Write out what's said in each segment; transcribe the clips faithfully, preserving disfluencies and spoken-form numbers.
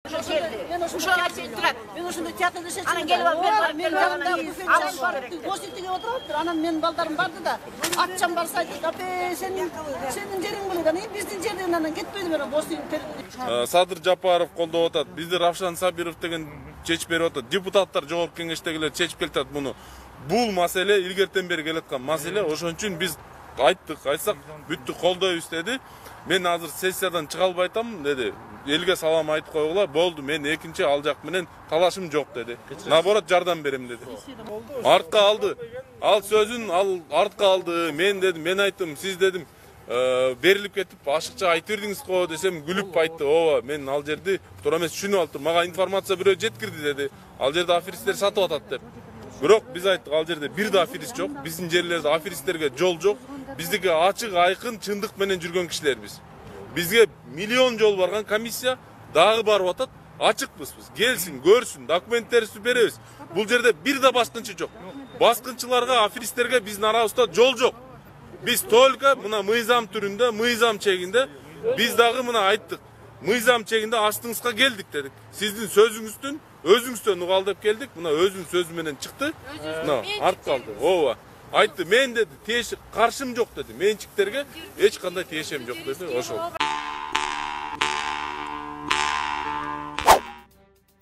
Ушуга чейин турат. Мен ошондо театрда иштечүмүн. Анан келип алып берип Мен жанымда буфет бар, гостиниге отуруптур. Анан менин балдарым барды да, атчам барса айтты, "Апе, сенин сенин жериң бул экен, биздин жерден анан кетпейди мен гостиник." Садыр Жапаров колдоп атат. Бизди Равшан Сабиров деген чечип берип атат. Депутаттар жогорку кеңештегилер чечип келатат муну. Бул маселе илгертен бери келаткан маселе. Ошон үчүн биз айттык, айтсак бүттү колдойбуз деди. Мен азыр сессиядан чыга албай атам деди. Элге салам айтып койгула, болду, мен экинчи ал жак менен талашым жок деди. Наоборот жардам берем деди. Артка алды. Ал сөзүн ал артка алды. Мен дедим, мен айттым, сиз дедим, берилип кетип ашыкча айтып бердиңиз го десем күлүп айтты. Ооба, мен ал жерди туура эмес түшүнүп алыптыр. Мага информация бирөө жеткирди деди. Ал жерде аферисттер сатып атат деп. Бирок биз айттык, ал жерде бир да аферист жок. Биздин жерлерде аферисттерге жол жок. Биздики ачык, айкын, чындык менен жүргөн кишилербиз. Бизге миллион жол барган комиссия дагы барып атат. Ачыкпыз биз. Келсин, көрсүн, документтерибизди беребиз. Бул жерде бир да баскынчы жок. Баскынчыларга, аферисттерге биздин арабызда жол жок. Биз только мына мыйзам түрүндө, мыйзам чегинде биз дагы мына айттык. Мыйзам чегинде астыңызга келдик дедик. Сиздин сөзүңүздүн өзүңүздөн угал деп келдик. Мына өзүнүн сөзү менен чыкты. Мына арт калды. Ооба. Айтты, мен деди, тиеш каршым жок деди. Менчиктерге эч кандай тиешем жок деди. Ошол.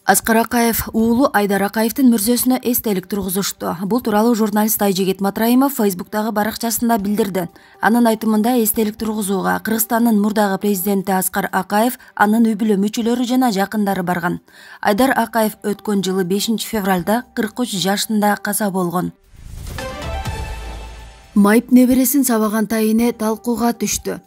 Аскар Акаев уулу Айдар Акаевдин мүрзөсүнө эстелик тургузушту. Бул тууралуу журналист Айжигит Матраимов Фейсбуктагы баракчасында билдирди. Анын айтымында эстелик тургузууга Кыргызстандын мурдагы президенти Аскар Акаев, анын үй бүлө мүчөлөрү жана жакындары барган. Айдар Акаев өткөн жылы бешинчи февралда кырк үч жашында каза болгон. Майып небересин сабаган тайыне талкууга түштү.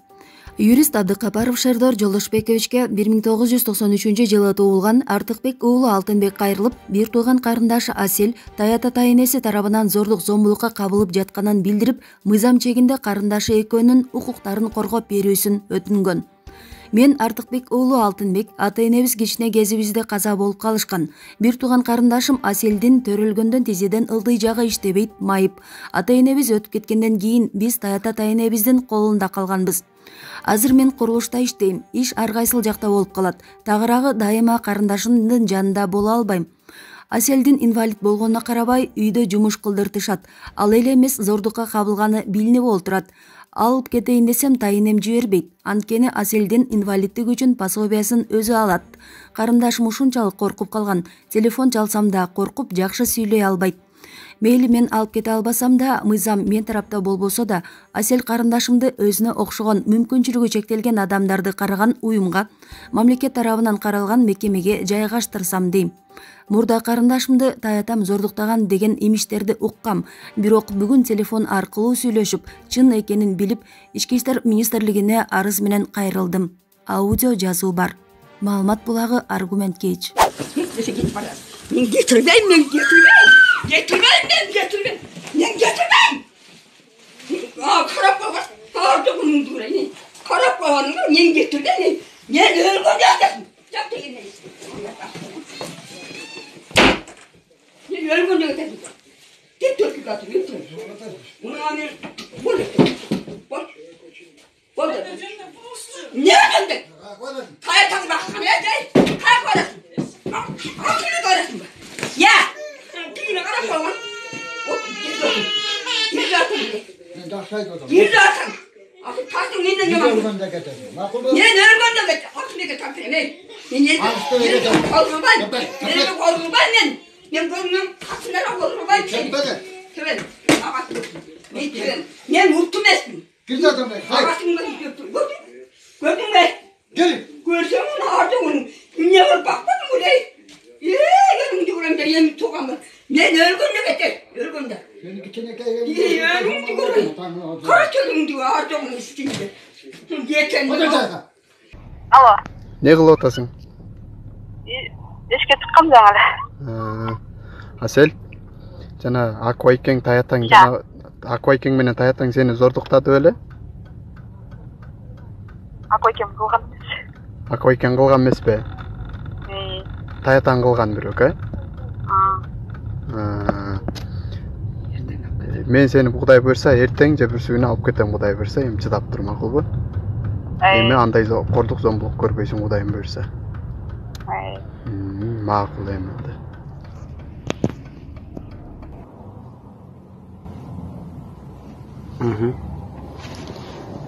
Юрист Абдыкапаров Шердор Жолдошбековичке бир миң тогуз жүз токсон үчүнчү жылы туулган Артыкбек уулу Алтынбек кайрылып, бир тууган карындашы Асел Таята тайынеси тарабынан зордук зомбулукка кабылып жатканын билдирип, мыйзам чегинде карындашы экөөнүн укуктарын коргоп берүүсүн өтүнгөн. Мен Артыкбек уулу Алтынбек ата-энебиз кичине кезибизде каза болуп калышкан. Бир тууган карындашым Аселдин төрөлгөндөн тизеден ылдый жагы иштебейт, майып. Ата-энебиз өтүп кеткенден кийин биз Таята тайынебиздин колунда калганбыз. Азыр мен курулушта иштейм. Иш ар кайсыл жакта болуп калат. Тагыраагы дайыма карындашымдын жанында боло албайм. Аселдин инвалид болгонуна карабай, үйдө жумуш кылдыртышат. Ал эле эмес, зордукка кабылганы билинип олтурат. Алып кетейин десем тайынем жибербейт. Анткени Аселдин инвалиддик үчүн пособиясын өзү алат. Карындашым ушунчалык коркуп калган. Телефон чалсам да коркуп жакшы сүйлөй албайт. Мейли мен алып кете албасам да, мыйзам мен тарапта болбосо да, Асел карындашымды өзүнө окшогон мүмкүнчүлүгү чектелген адамдарды караган уюмга, мамлекет тарабынан каралган мекемеге жайгаштырсам дейм. Мурда карындашымды таятам зордуктаган деген имиштерди уккам. Бирок бүгүн телефон аркылуу сүйлөшүп, чын экенин билип, Ички иштер министрлигине арыз менен кайрылдым. Аудио жазуу бар. Маалымат булагы Аргумент Кейч. Мен getirmeyim, men getirmeyim. Getirmeyim, men getirmeyim. Men getirmeyim. Aa, karap baba. Artık bunun durayım. Karap babanın da men getirmeyim. Men ölgün yaktım. Yaktım yine. Men ölgün yaktım. Git Türkiye katı, git Türkiye. Bunu anne, bol ettim. Bol. Bol ettim. Ne ödendin? Kayatan baksana ya, kay koyasın. Akıllı koyasın. Ya! Kıyına kadar koyalım. Gir zaten. Gir zaten. Akıl taktın neyle yaman. Ne ölgün de getir. Ne ölgün de getir. Akıl ne getir. Ne? Ne ne? Korkun ben. Ne korkun ben ben. Ne korkun kasınlara korkun ben. Tüven. Tüven. Ne tüven. Ne mutlu mesmin. Gir zaten. Akasını da götür. Gördün. Gördün mü? Gelin. Görsem onu harca onun. Ne var bakmadın mı dey? Eee gelin diyorum da yemin tokamı. Ne ölgün de getir. Ölgün de. Beni gitene kayın. İyi ölgün diyorum. Kaç ölgün diyor harca onun üstünde. Geçen de. Alo. Ne kılıp otasın? Eşke çıkkam жаңы. Asel, жана Акбайкең таятаң жана Акбайкең менен таятаң сени зордуктады беле? Акбайкең кылган эмес. Акбайкең кылган эмеспи? Ии. Таятаң кылган бирок, э? Аа. Мен сени Кудай буйрса эртең же бүрсү күнү алып кетем, Кудай буйрса, эми чыдап тур, макулбу? Эми андай кордук зомбулук көрбөйсүң, Кудайым буйрса. Ай. Макул эми да.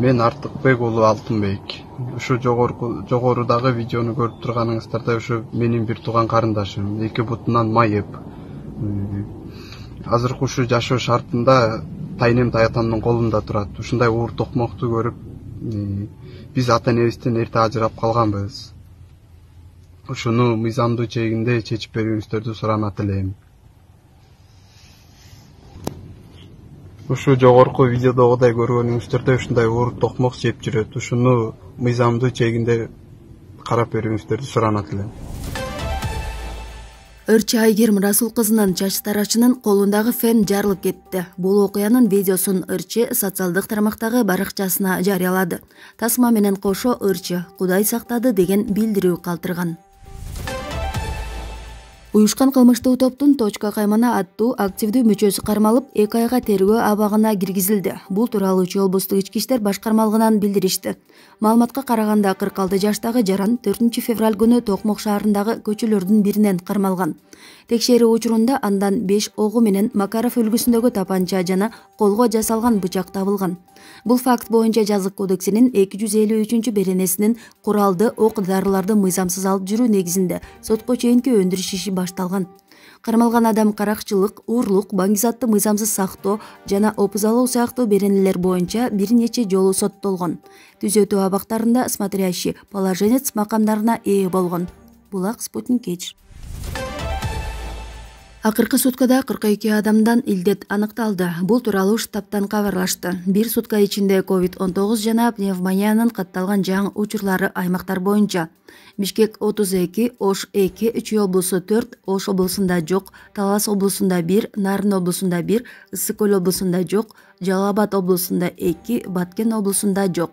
Мен Артыкбек уулу Алтынбек. Ушу жогорку жогорудагы видеону көрүп турганыңыздарда ушу менин бир тууган карындашым, эки бутунан майып. Азыркы ушу жашоо шартында тайнем таятамдын колунда турат. Ушундай уур токмокту көрүп, биз ата энебизден эрте ажырап калганбыз. Ушуну мыйзамдуу чегинде чечип берүүңүздөрдү суранат элем. Ушу жогорку видеодогудай көргөнүңүздөрдө ушундай уур токмок жеп жүрөт. Ушуну мыйзамдуу чегинде карап берүүңүздөрдү суранат элем. Ырчы Айгерим Расул кызынын чач тарачынын колундагы фен жарылып кетти. Бул окуянын видеосун Ырчы социалдык тармактагы баракчасына жарыялады. Тасма менен кошо Ырчы Кудай сактады деген билдирүү калтырган. Уюшкан кылмыштуу топтун Точка каймана аттуу активдүү мүчөсү кармалып, эки айга тергөө абагына киргизилди. Бул тууралуу Чүй облустук ички иштер башкармалыгынан билдиришти. Маалыматка караганда кырк алты жаштагы жаран төртүнчү февраль күнү Токмок шаарындагы көчөлөрдүн биринен кармалган. Текшерүү учурунда андан беш огу менен Макаров үлгүсүндөгү тапанча жана колго жасалган бычак табылган. Бул факт боюнча Жазык кодексинин эки жүз элүү үчүнчү беренесинин куралды ок дарыларды мыйзамсыз алып жүрүү негизинде сотко чейинки өндүрүш иши башталган. Кармалган адам каракчылык, уурлук, баңгизатты мыйзамсыз сактоо жана опузалоо сыяктуу беренелер боюнча бир нече жолу соттолгон. Түзөтүү абактарында смотрящий, положенец макамдарына ээ болгон. Булак Спутник Эч. Акыркы суткада кырк эки адамдан илдет аныкталды. Бул тууралуу штабтан кабарлашты. Бир сутка ичинде ковид он тогуз жана пневмониянын катталган жаңы учурлары аймактар боюнча: Бишкек отуз эки, Ош эки, Чүй облусу төрт, Ош облусунда жок, Талас облусунда бир, Нарын облусунда бир, Ысык көл облусунда жок, Жалал Абад облусунда эки, Баткен облусунда жок.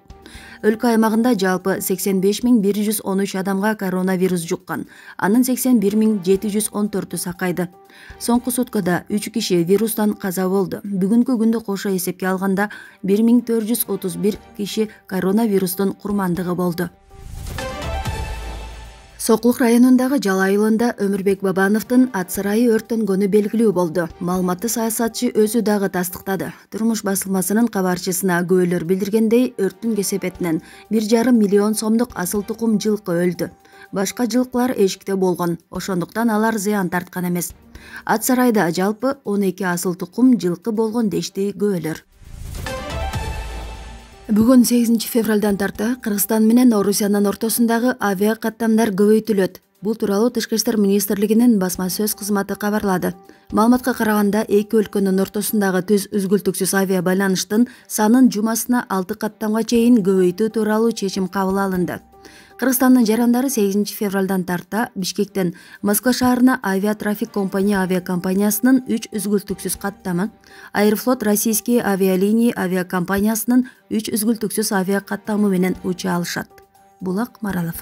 Өлкө аймагында жалпы сексен беш миң бир жүз он үч адамга коронавирус жуккан. Анын сексен бир миң жети жүз он төртү сакайды. Соңку суткада үч киши вирустан каза болду. Бүгүнкү күндү кошо эсепке алганда бир миң төрт жүз отуз бир киши коронавирустун курмандыгы болду. Соклук районундагы Жала айылында Өмүрбек Бабановдун ат сарайы өрттөнгөнү белгилүү болду. Маалыматты саясатчы өзү дагы тастыктады. Турмуш басылмасынын кабарчысына күбөлөр билдиргендей, өрттүн кесепетинен бир жарым миллион сомдук асыл тукум жылкы өлдү. Башка жылкылар эшикте болгон, ошондуктан алар зыян тарткан эмес. Ат сарайда жалпы он эки асыл тукум жылкы болгон дешти күбөлөр. Бүгүн сегизинчи февралдан тарта Кыргызстан менен Орусиянын ортосундагы авиа каттамдар көбөйтүлөт. Бул тууралуу Тышкы иштер министрлигинин басма сөз кызматы кабарлады. Маалыматка караганда эки өлкөнүн ортосундагы түз үзгүлтүксүз авиа байланыштын санын жумасына алты каттамга чейин көбөйтүү тууралуу чечим кабыл алынды. Кыргызстандын жарандары сегизинчи февралдан тарта Бишкектен Москва шаарына авиатрафик компания авиакомпаниясынын үч үзгүлтүксүз каттамы, Аэрофлот Российские авиалинии авиакомпаниясынын үч үзгүлтүксүз авиа каттамы менен уча алышат. Булак Маралов.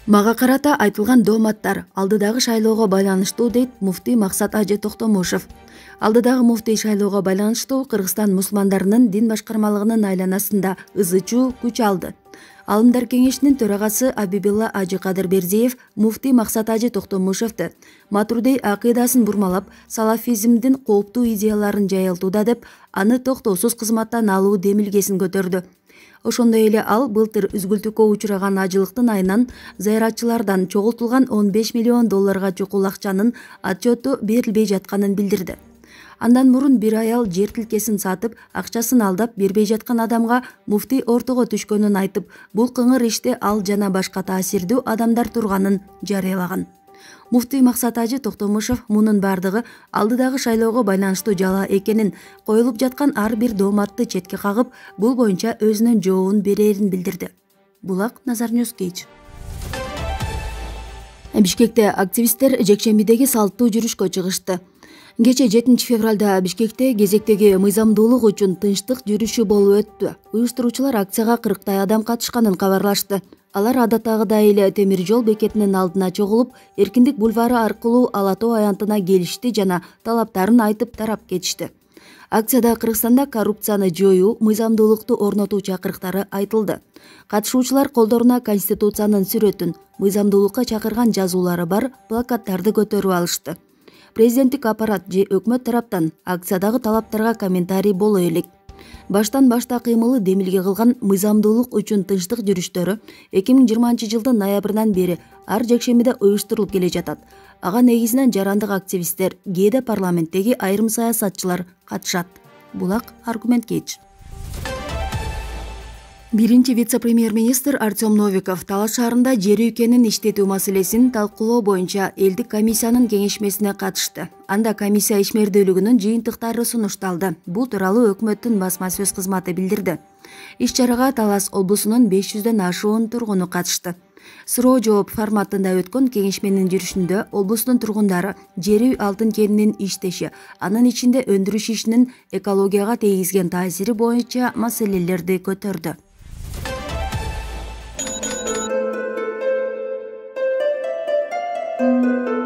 Мага карата айтылган дооматтар алдыдагы шайлоого байланыштуу, дейт муфтий Максат Ажы Токтомушев. Алдыдагы муфтий шайлоого байланыштуу Кыргызстан мусулмандарынын дин башкармалыгынын айланасында ызы-чуу күч алды. Алымдар кеңешинин төрагасы Абибилла Ажы Кадырбердиев муфтий Максат Ажы Токтомушевди матурдей акыйдасын бурмалап, салафизмдин кооптуу идеяларын жайылтууда деп, аны токтоосуз кызматтан алуу демилгесин көтөрдү. Ошондой эле ал былтыр үзгүлтүккө учураган ажылыктын айынан зыяратчылардан чогултулган он беш миллион долларга чукул акчанын отчету берилбей жатканын билдирди. Андан мурун бир аял жер тилкесин сатып, акчасын алдап бербей жаткан адамга муфтий ортого түшкөнүн айтып, бул кыңыр иште ал жана башка таасирдүү адамдар турганын жарыялаган. Муфтий Максат Ажы Токтомушев мунун бардыгы алдыдагы шайлоого байланыштуу жала экенин, коюлуп жаткан ар бир дооматты четке кагып, бул боюнча өзүнүн жообун берерин билдирди. Булак Назарнюс Кейч. Бишкекте активисттер жекшембидеги салттуу жүрүшкө чыгышты. Кече жетинчи февралда Бишкекте кезектеги мыйзамдуулук үчүн тынчтык жүрүшү болуп өттү. Уюштуруучулар акцияга кырктай адам катышканын кабарлашты. Алар адаттагыдай эле темир жол бекетинин алдына чогулуп, Эркиндик бульвары аркылуу Ала тоо аянтына келишти жана талаптарын айтып тарап кетишти. Акцияда Кыргызстанда коррупцияны жоюу, мыйзамдуулукту орнотуу чакырыктары айтылды. Катышуучулар колдоруна Конституциянын сүрөтүн, мыйзамдуулукка чакырган жазуулары бар плакаттарды көтөрүп алышты. Президенттик аппарат же өкмөт тараптан акциядагы талаптарга комментарий боло элек. Баштан башта кыймылы демилге кылган мыйзамдуулук үчүн тынчтык жүрүштөрү эки миң жыйырманчы жылдын ноябрынан бери ар жекшембиде уюштурулуп келе жатат. Ага негизинен жарандык активисттер, кээде парламенттеги айрым саясатчылар катышат. Булак аргумент кеч. Биринчи вице-премьер-министр Артем Новиков Талас шаарында жер үйкенин иштетүү маселесин талкуулоо боюнча элдик комиссиянын кеңешмесине катышты. Анда комиссия ишмердүүлүгүнүн жыйынтыктары сунушталды. Бул тууралуу өкмөттүн басма сөз кызматы билдирди. Иш-чарага Талас облусунун беш жүздөн ашуун тургуну катышты. Суроо жооп форматында өткөн кеңешменин жүрүшүндө облустун тургундары жер үй алтын кенинин иштеши, анын ичинде өндүрүш ишинин экологияга тийгизген таасири боюнча маселелерди көтөрдү. Thank you.